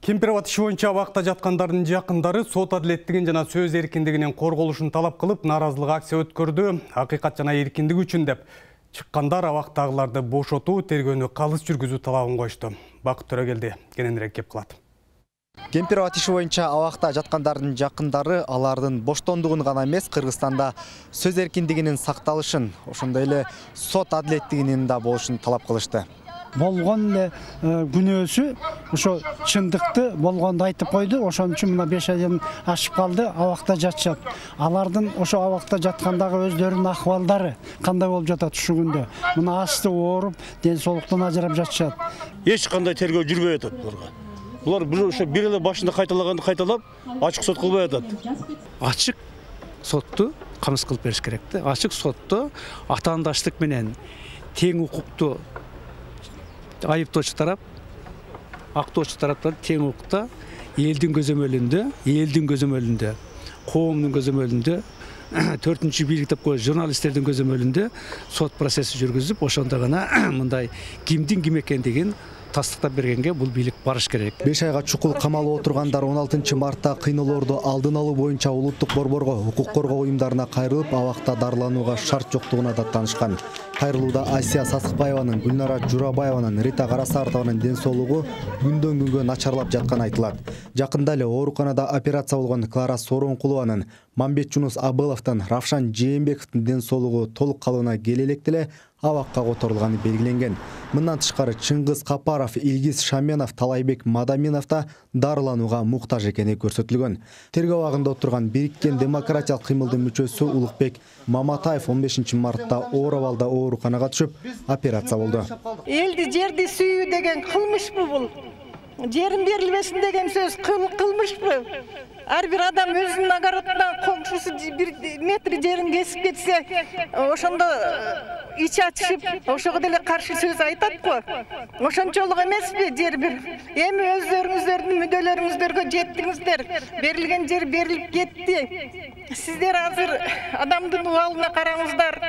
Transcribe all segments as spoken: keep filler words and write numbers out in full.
Кемпирабад иши боюнча абакта жаткандардын жакындары сот адилеттигин жана сөз эркиндигинин корголушун талап кылып нааразылык акция өткөрдү. Акыйкат жана эркиндик үчүн деп чыккандар абактагыларды бошотуу, тергөөнү калыс жүргүзүү талабын коюшту. Бакыт Төрөгелди кененирээк кеп кылат. Кемпирабад иши боюнча абакта жаткандардын жакындары алардын боштондугун гана эмес, Кыргызстанда сөз эркиндигинин сакталышын, ошондой эле сот адилеттигинин да болушун талап кылышты. Болгон эле күнөөсү ошо чындыкты болгонду айтып койду. Ошон үчүн мына беш айдан ашып калды, абакта жатышат. Алардын ошо абакта жаткандагы өздөрүнүн акыбалдары кандай болуп жатат ушу күндө? Мына асты ооруп, ден соолуктан ажырап жатышат. Эч кандай тергөө жүрбөй атат буларга. Булар бир ошо бир эле башында кайталаганды кайталап, ачык сот кылбай атат. Ачык сотту камсыз кылып бериш керек да. Ачык сотто атаандаштык менен тең укукту айыптоочу тарап, актоочу тараптар тең укукта элдин көзөмөлүндө, элдин көзөмөлүндө, коомдун көзөмөлүндө, төртүнчү бийлик деп коюш журналисттердин көзөмөлүндө сот процесси жүргүзүп, ошондо гана мындай кимдин ким экендигин тастыктап бергенге бул бийлик барыш керек. беш айга чукул камалып отургандар он алтынчы мартта кыйноолорду алдын алуу боюнча улуттук борборго, укук коргоо уюмдарына кайрылып, абакта дарыланууга шарт жоктугуна да таанышкан. Кайрылууда Асия Сасыкбаеванын, Гүлнара Журабаеванын, Рита Карасартованын ден соолугу күндөн күнгө начарлап жатканы айтылат. Жакында эле ооруканада операция болгон Клара Сооронкулованын, Мамбет Жунус Абыловдун, Равшан Жээнбековдун ден соолугу толук калыбына келе электе эле абакка которулганы белгиленген. Мындан тышкары Чыңгыз Капаров, Илгиз Шаменов, Талайбек Мадаминов да дарыланууга муктаж экени көрсөтүлгөн. Тергөө абагында отурган Бириккен демократиялык кыймылдын мүчөсү Улукбек Маматаев он бешинчи мартта оор абалда ооруканага түшүп, операция болду. Элди жерди сүйүү деген кылмышпы бул? Жерин берилбесин деген сөз кылмышпы? Ар бир адам өзүнүн огородунан комшусу бир метр жерин кесип кетсе, ошондо ич ачышып, ошого деле каршы сөз айтат го. Ошончолук эмеспи жер бир? Эми өздөрүңүздөрдүн мүдөлөрүңүздөргө жеттиңиздер. Берилген жер берилип кетти. Сиздер азыр адамдын убалына караңыздар.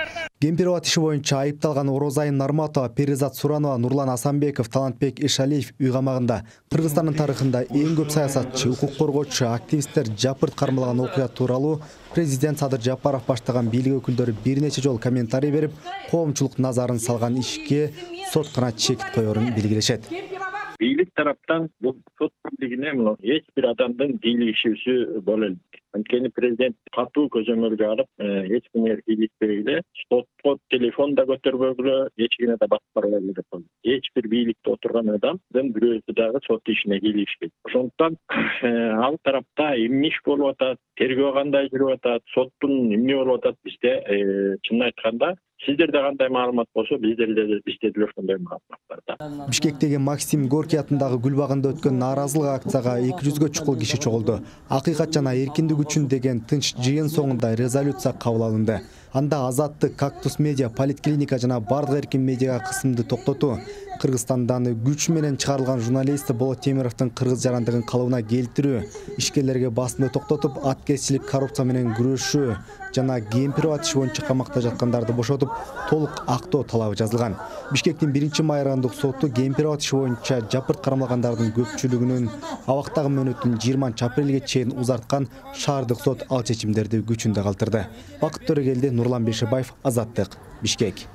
Кемпирабад иши боюнча айыпталган Орозайын Нарматова, Перизат Суранова, Нурлан Асанбеков, Талантбек Эшалиев үй камагында. Кыргызстандын тарыхында эң көп саясатчы, укук коргоочу, активисттер жапырт кармалган окуя тууралуу президент Садыр Жапаров баштаган бийлик өкүлдөрү бир нече жолу комментарий берип, коомчулук назарын салган ишке сот гана чекит коерун белгилешет. Бийлик тараптан бул сот бийлигине эч бир адамдын бийлик ишүүсү боло элек. Анткени президент катуу көзөмөлгө алып, эч кимге кийликпей эле сотко телефон да көтөрбөгүлө, эч кимге да басып барбай эле деп койду. Эч бир бийликте отурган адамдын бирөөсү дагы сот ишине кийлигишпейт. Ошондуктан ал тарапта эмне иш болуп атат, тергөө кандай жүрүп атат, соттун эмне болуп атат бизде чынын айтканда сиздерде кандай маалымат болсо, биздерде бизде деле ошондой маалымат бар. Бишкектеги Максим Горький атындагы гүл багында өткөн нааразылык акцияга эки жүзгө чукул киши чогулду. Акыйкат жана эркиндик үчүн деген тынч жыйын соңунда резолюция кабыл алынды. Анда Азаттык, Кактус медиа, Политклиника жана бардык эркин медиага кысымды токтотуу, Кыргызстандан күч менен чыгарылган журналист Болот Темировдун кыргыз жарандыгын калыбына келтирүү, ишкерлерге басымды токтотуп, аткезчилик, коррупция менен күрөшүү жана Кемпирабад иши боюнча камакта жаткандарды бошотуп, толук актоо талабы жазылган. Бишкектин биринчи майрандык соту Кемпирабад иши боюнча жапырт кармалгандардын көпчүлүгүнүн абактагы мөөнөтүн жыйырманчы апрелге чейин узарткан шаардык сот ал чечимдерди күчүндө калтырды. Бакыт Төрөгелди, Нурлан Бешебаев, Азаттык, Бишкек.